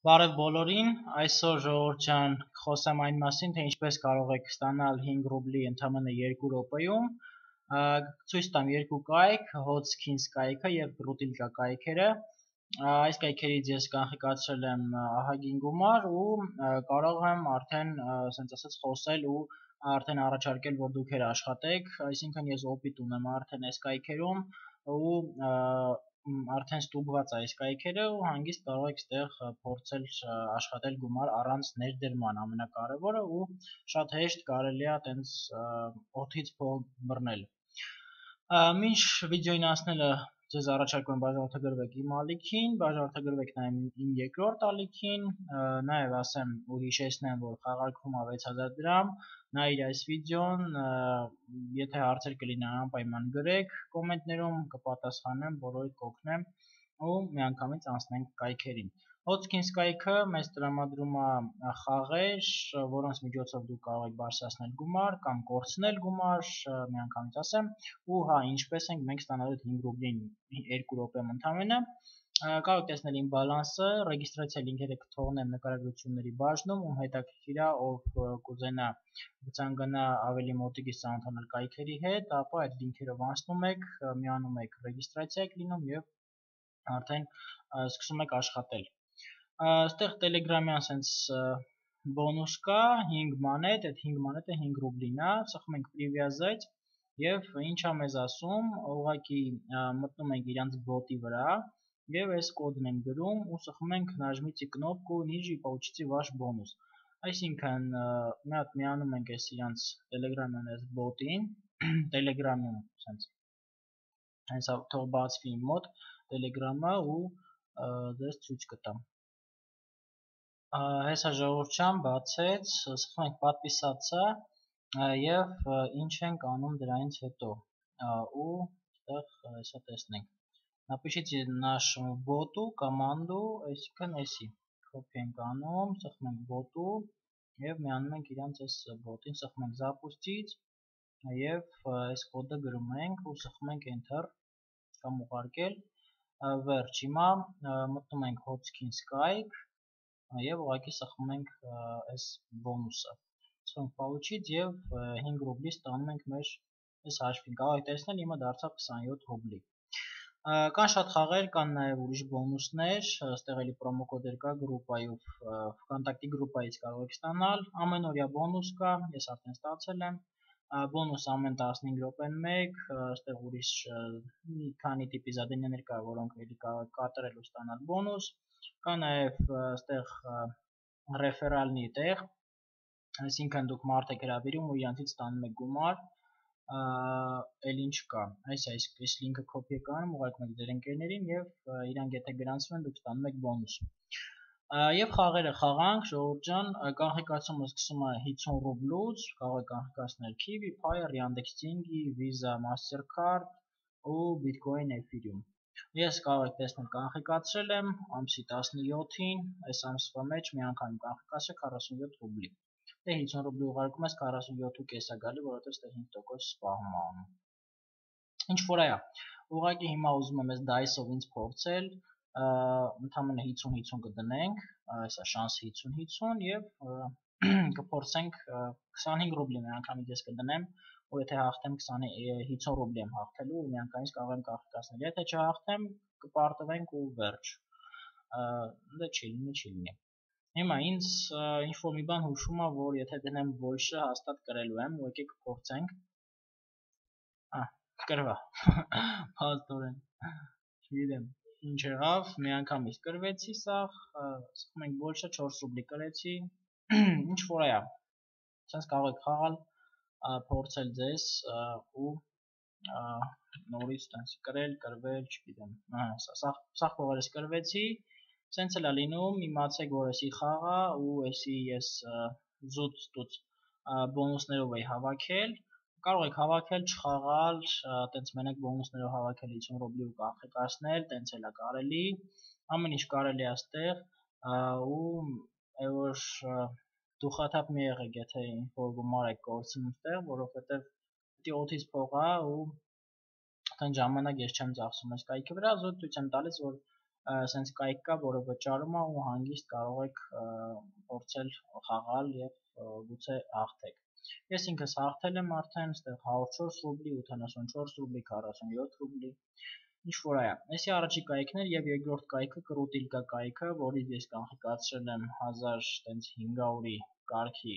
Բարև բոլորին, այսօր ժողովուրդ ջան, խոսեմ այն մասին, թե ինչպես կարող եք ստանալ 5 ռուբլի ընդամենը 2 րոպեում։ Ցույց տամ երկու կայք, Hotskins կայքը եւ Brutilka կայքերը։ Այս կայքերից ես կանխիկացրել եմ ահագին գումար ու կարող եմ արդեն, ասենց ասած, խոսել ու արդեն առաջարկել, որ դուք աշխատեք, այսինքն ես օպիտ ունեմ արդեն այս կայքերում ու արդեն ստուգված է այս կայքերը ու հանգիստ կարող եք այդտեղ փորձել աշխատել գումար առանց ներդրման, ամենակարևորը ու շատ հեշտ կարելի է այտենց օդից փող բռնել։ Մինչ վիդեոին անցնելը ձեզ առաջարկում եմ բաժանորդագրվեք իմ ալիքին, բաժանորդագրվեք նաև իմ երկրորդ ալիքին, նաև ասեմ ու հիշեցնեմ, որ խաղարկվում է 6000 դրամ, նայիր այս վիդեոն, եթե հարցեր կլինեն անպայման գրեք կոմենտներում, կպատասխանեմ, բոլորիդ կօգնեմ ու միանգամից անցնենք կայքերին։ Hotskins կայքը մեզ տրամադրում է խաղեր, որոնց միջոցով դուք կարող եք բարձրացնել գումար կամ կորցնել գումար, միանգամից ասեմ, ու հա, ինչպես ենք մենք ստանալու 5 ռուբլին 2 րոպեում ընդամենը։ Կարող եք տեսնել իմ բալանսը, ռեգիստրացիա լինքերը կթողնեմ նկարագրությունների բաժնում, ում հետաքրքիր է, ով կուզենա կցանկանա ավելի մոտիկից ծանոթանալ կայքերի հետ, ապա այդ լինքերով անցնում եք, միանում եք ռեգիստրացիա եք լինում եւ արդեն սկսում եք աշխատել։ Այստեղ Telegram-յան sense բոնուս կա 5 մանետ, այդ 5 մանետը 5 ռուբլին է, ծխում ենք привязать եւ ինչ է մեզ ասում, ուղղակի մտնում ենք իրանց բոտի վրա եւ այս կոդն ենք գրում ու ծխում ենք նажмите кнопку ниже и получите ваш бонус։ Այսինքն մի հատ միանում ենք այս իրանց Telegram-յան այս բոտին, Telegram-ում sense հենց թող բացվի իմ մոտ Telegram-ը ու դες ցույց կտամ։ Հեսա ժողովուրդ ջան, բացեց, սխում ենք подписаться եւ ինչ ենք անում դրանից հետո ու այդտեղ հեսա տեսնենք։ Напишите нашему боту команду, այսինքն էսի copy ենք անում, սխում ենք bot-ու եւ միանում ենք իրանց այս bot-ին, սխում ենք запустить եւ այս կոդը գրում ենք ու սխում ենք enter կամ ուղարկել վերջ։ Հիմա մտնում ենք Hotskins կայք եւ ուղղակի սխում ենք այս բոնուսը։ Սխում получить եւ 5 ռուբլի ստանում ենք մեր այս հաշվին։ Կարող եք տեսնել, իմը դարձավ 27 ռուբլի։ Կան շատ խաղեր, կան նաեւ ուրիշ բոնուսներ, այստեղ էլի պրոմոկոդեր կա գրուպայով, վկանտակտի գրուպայից կարող եք ստանալ, ամենօրյա բոնուս կա, ես արդեն ստացել եմ, բոնուս ամեն 15 րոպեն 1, այստեղ ուրիշ մի քանի տիպի զադենյաներ կա, որոնք էլի կարող եք կատարել ու ստանալ բոնուս, կա նաեւ այստեղ ռեֆերալնի տեղ, այսինքն դուք մարդ եք հրավիրում ու իրանցից ստանում եք գումար, էլ ինչ կա, այս լինքը copy եք անում, ուղարկում եք ձեր ընկերներին եւ իրանք եթե գրանցվում են, դուք ստանում եք բոնուս։ Եվ խաղերը խաղանք, ժողովուրդ ջան, կանխիկացումը սկսում է 50 ռուբլուց, կարող եք կանխիկացնել Kiwi, Payer, Yandex Деньги, Visa, Mastercard ու Bitcoin, Ethereum։ Ես կարող եք տեսնել կանխիկացրել եմ ամսի 17-ին, այս ամսվա մեջ մի անգամ կանխիկացրել 47 ռուբլի։ Դե 50 ռուբլի ուղարկում ես 47.5 է գալի, որովհետև ստեղ 5% սպառում է անում։ Ինչ որ այա, ուղղակի հիմա ուզում եմ այս DICE-ով ինձ փորձել, ընդամենը 50-50 կդնենք, այսա շանս 50-50 եւ կփորձենք 25 ռուբլի մի անգամից ես կդնեմ, ու եթե հաղթեմ 50 ռուբլի եմ հաղթելու ու մի անգամից կարող եմ կանխիկացնել։ Եթե չհաղթեմ, կպարտվենք ու վերջ։ Դե չի լինի։ Հիմա ինձ ինչ որ մի բան հուշում է, որ եթե դնեմ больше հաստատ կրելու եմ, ու եկեք փորձենք։ Կրվա։ Փաստորեն։ Չգիտեմ, ինչ եղավ, մի անգամից կրվեցի սաղ, սխում ենք больше 4 ռուբլի կրեցի։ Ինչ որ այա։ Սենց կարող եք խաղալ, փորձել ձեզ ու նորից տենց կրել, կրվել, չգիտեմ։ Սաղ փողերս կրվեցի, սենց էլ է լինում, իմացեք, որ էսի խաղա ու էսի ես զուտ բոնուսներով էի հավաքել, կարող եք հավաքել, չխաղալ, տենց մենակ բոնուսներով հավաքել 50 ռուբլի ու կանխիկացնել, տենց էլ է կարելի, ամեն ինչ կարելի է այստեղ ու որ դուխաթափ մի եղեք, եթե ինչ-որ գումար եք կորցնում այդտեղ, որովհետև դի օդից փող է ու այդքան ժամանակ ես չեմ ծախսում այս կայքի վրա, զուտ ցույց եմ տալիս, որ սենց կայք կա, որը վճարում է ու հանգիստ կարող եք փորձել խաղալ եւ գուցե հաղթեք։ Ես ինքս հաղթել եմ արդեն, այստեղ 104 ռուբլի, 84 ռուբլի, 47 ռուբլի, ինչ որ այա։ Այսի առաջի կայքն էր եւ երկրորդ կայքը կրուտիլկա կայքը, որից ես կանխիկացրել եմ 1500-ի կարգի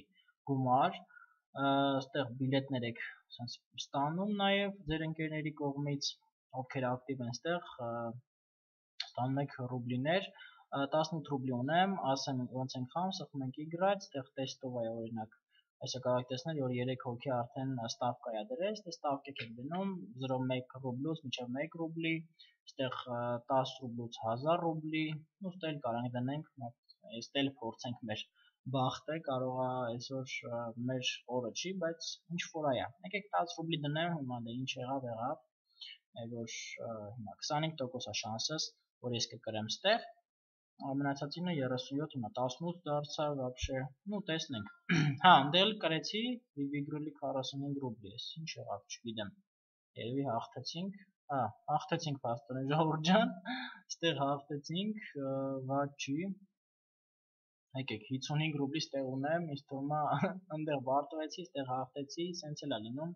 գումար, այստեղ բիլետներ եք սենց ստանում նաեւ ձեր ընկերների կողմից, ովքեր ակտիվ են այստեղ, ստանում եք ռուբլիներ, 18 ռուբլի ունեմ, ասեմ ոնց ենք խաղում, սխում ենք Y, այստեղ տեստով է օրինակ, այսը կարող եք տեսնել, որ 3 հոգի արդեն ստավկա է դրել, այստեղ ստավկեք եք դնում 0.1 ռուբլուց մինչև 1 ռուբլի, այստեղ 10 ռուբլուց 1000 ռուբլի, ու ստել կարող դնենք, այստեղ փորձենք մեր բախտը, կարող է այսօր մեր օրը չի, բայց ինչ որ այա։ Եկեք 10 ռուբլի դնեմ, հիմա դե ինչ եղավ, որ հիմա 25% է շանսս, որ ես կկրեմ ստեղ, մնացածինը 37, հիմա 18 դարձավ, вообще, ну տեսնենք։ Հա, ընդել կրեցի, վիգրելի 45 ռուբլի, ես ինչ եղավ, չգիտեմ։ Երևի հաղթեցինք, հա, հաղթեցինք փաստորեն ժողովուրդ ջան, ստեղ հաղթեցինք, վատ չի։ Եկեք 55 ռուբլի ստեղ ունեմ, ինձ թվում է այնտեղ բարտվեցի, ստեղ հաղթեցի, սենց էլ է լինում։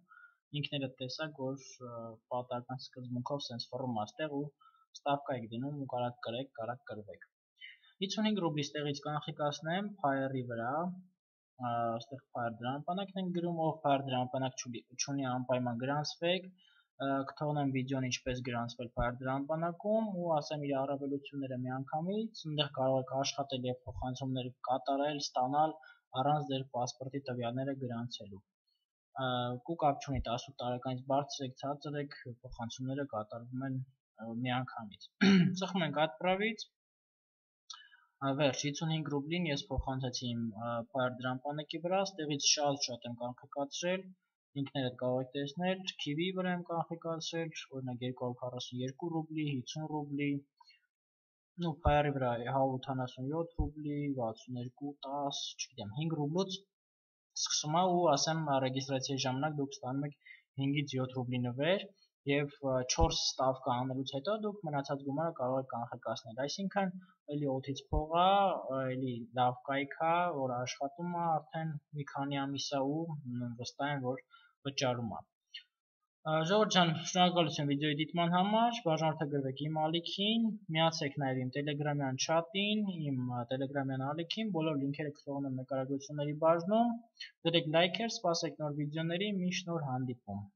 Ինքներդ տեսակ, որ պատահական սկզբունքով սենց ֆռում է ստեղ ու ստավկա եք դնում ու կարակ կրեք, կարակ կրվեք։ 55 ռուբլի ստեղից կանխիկացնեմ Fire-ի վրա, այստեղ Fire դրամապանակն ենք գրում, ով Fire դրամապանակ չունի անպայման գրանցվեք, կթողնեմ վիդեոն ինչպես գրանցվել Fire դրամապանակում ու ասեմ իր առավելությունները միանգամից, այնտեղ կարող եք աշխատել եւ փոխանցումներ կատարել, ստանալ առանց ձեր պասպորտի տվյալները գրանցելու։ Ու կապ չունի 18 տարեկանից բարձր եք, ցածր եք, փոխանցումները կատարվում են միանգամից։ Ծխում ենք Atpravից, վերջ 55 ռուբլին ես փոխանցեցի իմ Fire դրամապանակի վրա, ստեղից շատ եմ կանխիկացրել, ինքներդ կարող եք տեսնել, Kiwi-ի վրա եմ կանխիկացրել, օրինակ 242 ռուբլի, 50 ռուբլի, ну Fire-ի վրա 187 ռուբլի, 62, 10, չգիտեմ, 5 ռուբլուց սկսում է ու ասեմ ռեգիստրացիայի ժամանակ դուք ստանում եք 5-ից 7 ռուբլի նվեր եւ 4 ստավկա անելուց հետո դուք մնացած գումարը կարող եք կանխիկացնել, այսինքն էլի օդից փող է, էլի լավ կայք է, որ աշխատում է արդեն մի քանի ամիս է ու վստահ եմ, որ վճարում է։ Ժողովուրդ ջան, շնորհակալություն վիդեոյի դիտման համար, բաժանորդագրվեք իմ ալիքին, միացեք նաև իմ Telegram-յան չաթին, իմ Telegram-յան ալիքին, բոլոր լինքերը կթողնեմ նկարագրությունների բաժնում, դրեք լայքեր, սպասեք նոր վիդեոների, մինչ նոր հանդիպում։